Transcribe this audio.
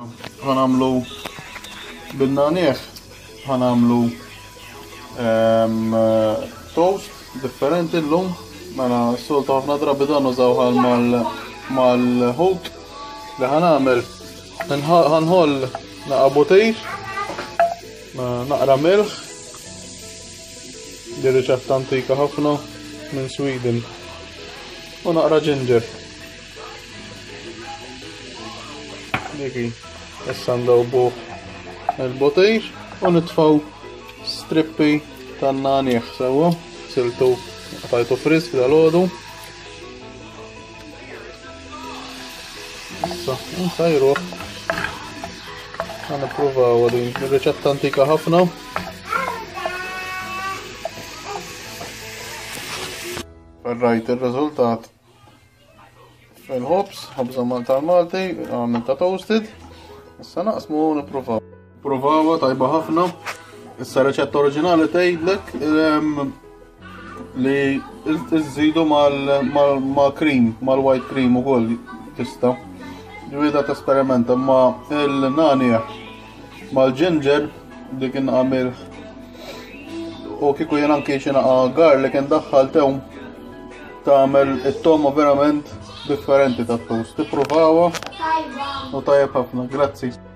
Ħa nagħmlu bin-nagħniegħ, ħa nagħmlu ehm, toast differenti llum. Mela s-soltu ħafna drabi dan użaw mal-ħut li ħa nagħmel ħanħoll naqa' butir, naqra milħ, di riċetta antika ħafna minn Sweden u naqra ginger. Diki, issa ndawbuh il-butir u nitfaw strippi tan-nagħniegħ sewwa, siltu qtajtu frisk dal-għodu. Issa, nsajruh. Ħa nippruvaw din ir-riċetta antika ħafna. Ferrajt ir-riżultat fil-ħobż, ħobża tal-Malti, għamilta toasted. Issa naqsmu u nippruvaw. Provawha tajba ħafna. Issa reċetta oriġinali tgħidlek ehm, li iżżidu mal-cream, mal-white cream ukoll tista'. Ġifieri tesperimenta ma il-nanieh mal-ginger dik inqamil u kieku jien anki xi naqa' garlic indaħħal tewm tagħmel it-toma verament differenti tat-toast. Tippruvawha u tajjeb ħafna. Grazzi.